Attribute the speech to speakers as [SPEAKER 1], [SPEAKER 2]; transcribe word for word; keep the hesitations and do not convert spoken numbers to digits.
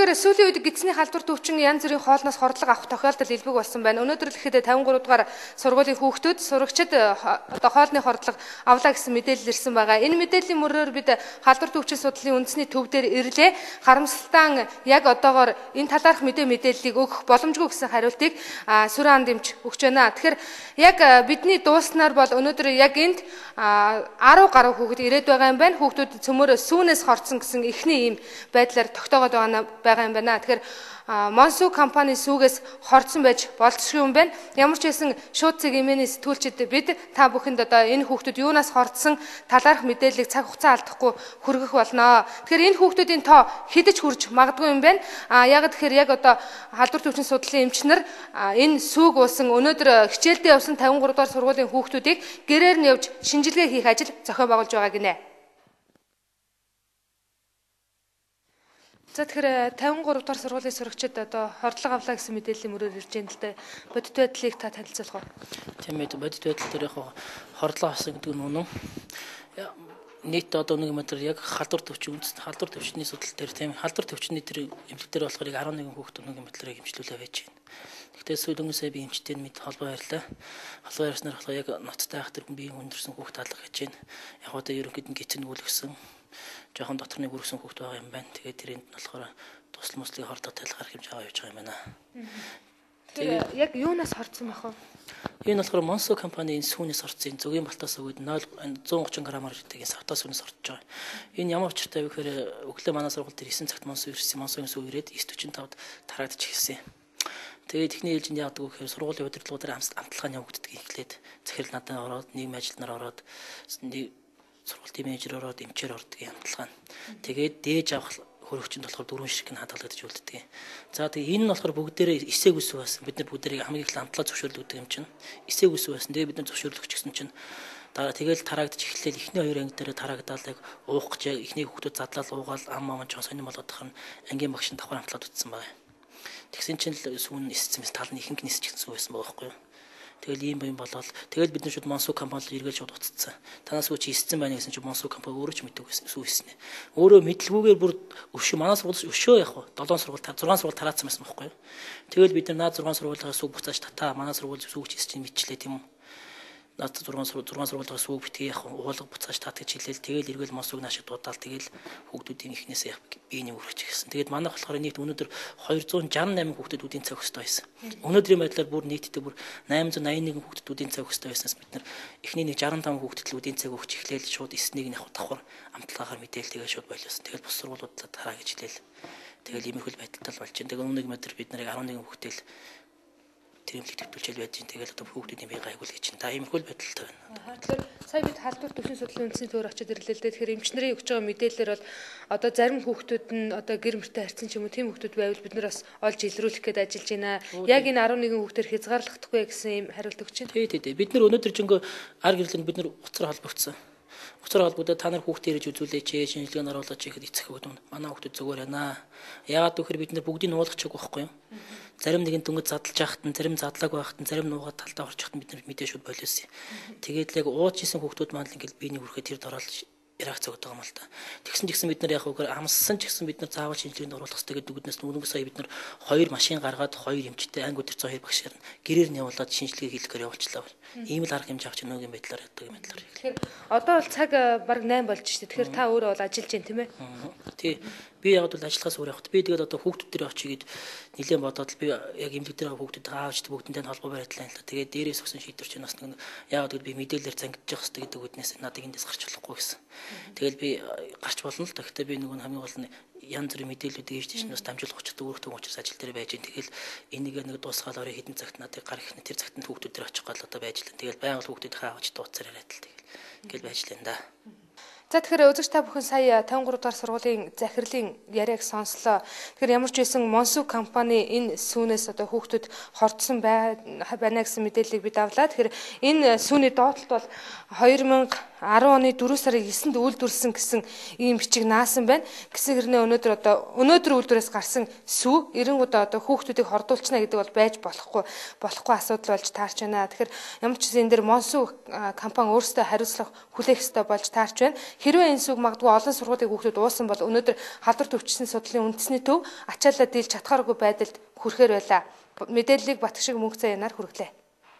[SPEAKER 1] Тэгэхээр сүүлийн үед гидсний халдвар төвчин янз бүрийн хоолноос хордлого авах тохиолдол илбэг болсон байна. Өнөөдөр л ихэд тавин гурав дугаар сургуулийн хүүхдүүд сурагчид одоо хоолны хордлого авлаа гэсэн мэдээлэл ирсэн байгаа. Энэ мэдээллийн мөрөөр бид халдвар төвчин судлалын үндэсний төв дээр ирлээ. Харамсалтай яг одоогоор энэ талаарх мэдээ мэдээллийг өгөх боломжгүй гэсэн хариултыг сүрэн анд эмч өгч байна. Тэгэхээр яг бидний дууснаар бол өнөөдөр яг энд арав гаруй хүүхэд ирээд байгаа юм байна. Хүүхдүүд цөмөр сүүнээс хорцсон гэсэн эхний ийм байдлаар тогтоогод байгаа юм байна. Тэгэхээр Монсу компани сүүгээс хорцсон байж болцсон юм байна. Ямар ч байсан шууд цэг эмээний сэтгүүлчид бид та бүхэнд одоо энэ хүүхдүүд юунаас хорцсон талаарх мэдээллийг цаг хугацаа алдахгүй хүргэх болно. Тэгэхээр энэ хүүхдүүдийн тоо хэдэж хүрч магадгүй юм байна. А яг тэгэхээр яг одоо халдвар төвчин судлалын эмчнэр энэ сүүг уусан өнөөдөр хичээлдээ явсан тавин гурав дугаар сургуулийн хүүхдүүдийг гэрээр нь явж шинжилгээ хийх ажил зохион байгуулж байгаа гинэ. За тэгэхээр тавин гурав дугаар сургуулийн сурагчид одоо хордлого авлаа гэсэн мэдээллийн мөрөөр ирж байна л да. Бодит байдлыг та танилцуулах уу?
[SPEAKER 2] Тийм ээ, бодит байдал дээр яг хордлого авсан гэдэг нь үнэн. Нийт одоо нэг метр яг халдвар төвчин үндэс халдвар төвчний судал дээр тийм халдвар төвчний тэр эмчил дээр болохоор арван нэгэн хүүхэд нэг метрийг эмчлүүлээ байж байна. Гэхдээ сүүлэн сая би эмчтэй мэд холбоо ярьлаа. Холбоо ярьснаар болохоор яг ноцтой ах тэр хүн биеийн хүндэрсэн хүүхэд алга гэж байна. Яг одоо ерөнхийд нь гитцэнгүүлгсэн жоохон дотор нэг үргэсэн хүүхэд байгаа юм байна. Тэгээд тэрэнд нь болохоор тусал мөслийг хордоо талгаар хэмж аваа явж байгаа юм байна.
[SPEAKER 1] Тэгээд яг юунаас хорцсон байх вэ?
[SPEAKER 2] Энэ болохоор Монсо компанийн сүүнээс орсон зөвгийн балтаас өгөөд зуун гучин граммаар гэдэг савтаа сүүнээс орж байгаа. Энэ ямар учиртай вэ гэхээр өглөө манай сургууль дээр эсэн цагт Монсо ирсэн. Монсогийн сүү ирээд девять forty-five тарагдчих хэлсэн. Тэгээд техникийн ээлжинд яадаг вэ гэхээр сургуулийн удирдлагуудаар амтлагааны явагддаг ихлээд захирал надад ороод нийгмийн ажилтнаар ороод сургуулийн менежер ороод эмчээр ордог юм амтлага. Тэгээд дээж авах хөрөгчөнд болохоор дөрвөн ширхэг нь хадгалагдаж үлддэг. За тэгээ энэ нь болохоор бүгдээрээ эсээг үс байсан. Бид нар бүгдээрээ хамгийн их амтлаа зөвшөөрлөгдөг юм чинь. Эсээг үс байсан. Тэгээ бид нар зөвшөөрлөгч гэсэн чинь дараа тэгэл тараагдаж эхлээл эхний хоёр анги дээр тараагдаал яг уух гэж эхний хүүхдүүд задлал уугаал ам ам ч сонирм болоод тахна ангийн багш нь давхар амтлаад утсан байна. Тэгсэн чинь л сүүн ниссэн мэт тал нь ихэнх нисчихсэн сүү байсан байгаа байхгүй юу? Тэгэл ийм юм болоод тэгэл бид нар шууд Монсу компани руу эргэж шууд уццсан. Танаас үуч хийсэн байна гэсэн чинь Монсу компани өөрөө ч мэддэг гэсэн сүү хийсэн. Өөрөө мэдлгүйгээр бүр өвшөө манаас сургууль өшөө яг хаа долоон сургууль зургаан сургууль тараацсан байсан байхгүй юу? Тэгэл бид нар наад зургаан сургуулиас сүү буцааж татаа манай сургууль сүүгч хийсэн чинь мэдчлээ тийм үү? Наад зургаан зургаан сургуулиас сүү битгий яг уулга буцааж тат гэж хэлээл тэгэл эргэл Монсуг наашиг дуудаал тэгэл хүүхдүүдийн ихнээс яг биений үргэж гисэн. Тэгээд манайх болохоор нийт өнөөдөр two hundred sixty-eight хүүхдүүд үдийн цаг өстой байсан. Өнөөдрийн байдлаар бүр нийтдээ бүр eight hundred ninety-one хүүхдүүд үдийн цаг өстой байснаас бид нар эхний нэг sixty-five хүүхдэд л үдийн цаг өгч эхлээл шууд эснийг нь яг давхар амтлагаар мэдээлэл тэгээд шууд боловсон. Тэгэл бус сургуулиудлаа тараа гэж хэлээл. Тэгэл иймэрхүүл байдалтай болж байна. Тэгээд өнөөдөр метр бид нарыг eleven хүүхдэл тэмлэг төвлөжөл байж гин тэгэл одоо хүүхдүүдийн бие гайгуул гэж чинь та иймэрхүүл байдалтай байна.
[SPEAKER 1] Тэгэхээр сая бид халдвар төвшин судлалын үндэсний төвөөр очиод ирлээ л дээ. Тэгэхээр эмчнэрийн өгч байгаа мэдээлэлээр бол одоо зарим хүүхдүүд нь одоо гэр мөртэй харьцсан ч юм уу тийм хүүхдүүд байвал бид нар бас олж илрүүлэх гээд ажиллаж байна. Яг энэ eleven хүүхдээр хязгаарлахдаггүй гэсэн юм хариулт өгч байна.
[SPEAKER 2] Тий, тий, тий. Бид нар өнөөдөр жинхэнэ ар гэрлэн бид нар уцаар холбогдсон. Уцаар холбогдоод та нар хүүхдээ ирж үзүүлээч, шинжилгээнд оруулаач гэхэд эцэг өгдөг. Манай хүүхдүүд зүгээр байна. Яагаад гэвэл бид нар бүгдийг нуулгачих байхгүй юу? Зарим нэгэн дөнгөж задлж яхад нь, зарим задлааг байхад нь, зарим нуугаад талдаа орж яхад нь бид нар мэдээ шууд болиосон. Тэгээд л яг ууж исэн хүүхдүүд маань л ингээл биений үрхээ тэр дороолж реакц өгдөг юм л та. Тэгсэн ч гэсэн бид нар яг үгээр амссан ч гэсэн бид нар заавал шинжилгээнд оруулах хэрэгтэй гэдэг үгнээс нүнг сая бид нар хоёр машин гаргаад хоёр эмчтэй анги өдөр хоёр багшаар гэрээр нь явуулаад шинжилгээ хийлгэхээр явуулчлаа. Ийм л арга хэмжээ авч нөгөөгийн байдлаар яддаг юм байдлаар.
[SPEAKER 1] Тэгэхээр одоо бол цаг баг eight болж штэ. Тэгэхээр та өөрөө бол ажиллаж байна тийм ээ?
[SPEAKER 2] Тий. Би яг бол ажиллахаас өөр явахт би тэгээд одоо хүүхдүүд дээр очигээд нэлээд бодоод би яг эмнэлэг дээр хүүхдүүд аавч бүгдэнтэй холбоо барьтлаа л. Тэгээд дээрээс өгсөн шийдвэр чинь бас нэг яг бол би мэдээлэлээр зангидж явах хэрэгтэй гэдэг үднээс надад эндээс гарч болохгүй гэсэн. Тэгэл би гарч болно л. Гэхдээ би нэг хамгийн гол нь янз бүрийн мэдээллүүдийг ээж чинь бас дамжуулах учиртай өөртөө учраас ажил дээр байж гин. Тэгэл энийг нэг дуусгаал орой хэдэн цагт надад гар ихнэ тэр цагт нь хүүхдүүд дээр очих гол одоо байж л. Тэгэл байнга хүүхдүүд хааж дууцаар яриад л тэгэл. Ингээл байж л энэ да.
[SPEAKER 1] За тэгэхээр үзэгч та бүхэн сая тавин гурав дугаар сургуулийн захирлын яриаг сонслоо. Тэгэхээр ямар ч байсан Монсу компани энэ сүүнээс одоо хүүхдүүд хордсон байна гэсэн мэдээллийг бид авлаа. Тэгэхээр энэ сүүний доотлолт бол two thousand арван оны дөрөв сарын есэнд үйлдвэрлэсэн гэсэн ийм бичиг наасан байна. Гэсэн хэрнээ өнөөдөр одоо өнөөдөр үйлдвэрээс гарсан сүү эренгуудаа одоо хүүхдүүдийг хордуулчихна гэдэг бол байж болохгүй болохгүй асуудал болж таарч байна. Тэгэхээр ямар ч зүйл энэ дэр Монсуу компани өөрсдөө хариуцлага хүлээх ёстой болж таарч байна. Хэрвээ энэ сүүг магадгүй олон сургуулийн хүүхдүүд уусан бол өнөөдөр халдварт өвчсөн судлалын үндэсний төв ачаалаа дийлж чадхааргүй байдалд хүрэхээр байлаа. Мэдээллийг Батгшиг Мөнх Цай янаар хүргэлээ.